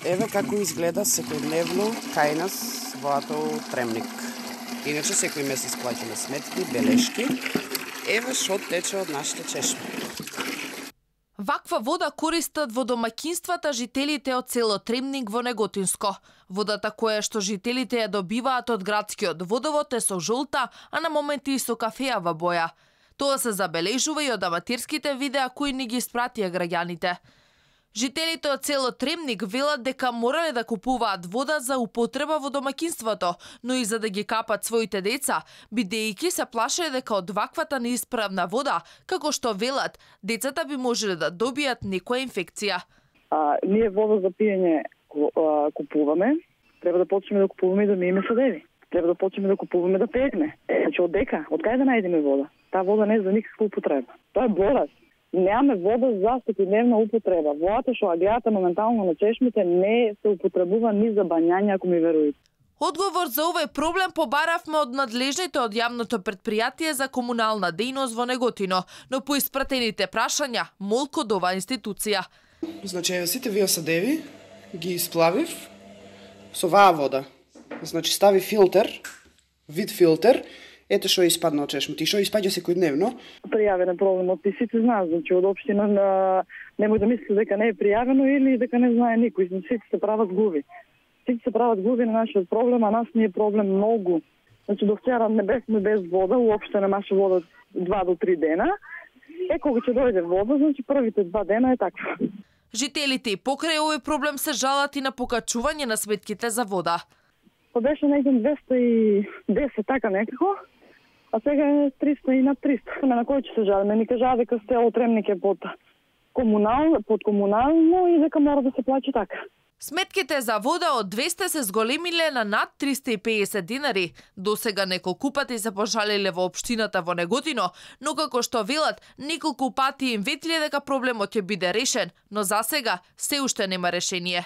Еве како изгледа секојдневно кај нас водата Тремник. Иначе секој месец плаќаме сметки, белешки. Еве што тече од нашите чешми. Ваква вода користат во домаќинствата жителите од село Тремник во Неготинско. Водата која што жителите ја добиваат од градскиот водовод е со жолта, а на моменти и со кафеава боја. Тоа се забележува и од аматерските видеа кои ни ги испратија граѓаните. Жителите од село Тремник велат дека морале да купуваат вода за употреба во домаќинството, но и за да ги капат своите деца, бидејќи се плашеле дека од ваквата неисправна вода, како што велат, децата би можеле да добијат некоја инфекција. Ние вода за пиење купуваме, треба да почнеме да купуваме и да миеме садеви. Треба да почнеме да купуваме да пееме. Значи од дека, од кај да најдеме вода? Таа вода не е за никаква употреба. Тоа е болест. Немаме вода за секојдневна употреба. Водата што ја гледате моментално на чешмите не се употребува ни за бањање, ако ми верувате. Одговор за овој проблем побаравме од надлежните од јавното претпријатие за комунална дејност во Неготино, но по испратените прашања молку од оваа институција. Значи, сите вие садеви ги исплавив со оваа вода. Значи, стави филтер, вид филтер. Ете што испадна од чешмите и што испаѓа секојдневно. Пријавен е проблемот и сите знаат, значи од општина немој да мисли дека не е пријавено или дека не знае никој, сите се прават глуви. Сите се прават глуви на нашиот проблем, а нас ни е проблем многу. Значи до вчера не бевме без вода, уопште немаше вода 2 до 3 дена. Кога ќе дојде вода, значи првите 2 дена е така. Жителите и покрај овој проблем се жалат и на покачување на сметките за вода. Па беше некако 210 така некако. А сега е 300 и над 300. На кој ќе се жалиме? Ни кажа дека село Тремник е под комунално и дека мора да се плачи така. Сметките за вода од 200 се зголемиле на над 350 динари. Досега неколку пати се пожалиле во општината во Неготино, но како што велат, неколку пати им ветле дека проблемот ќе биде решен, но засега се уште нема решение.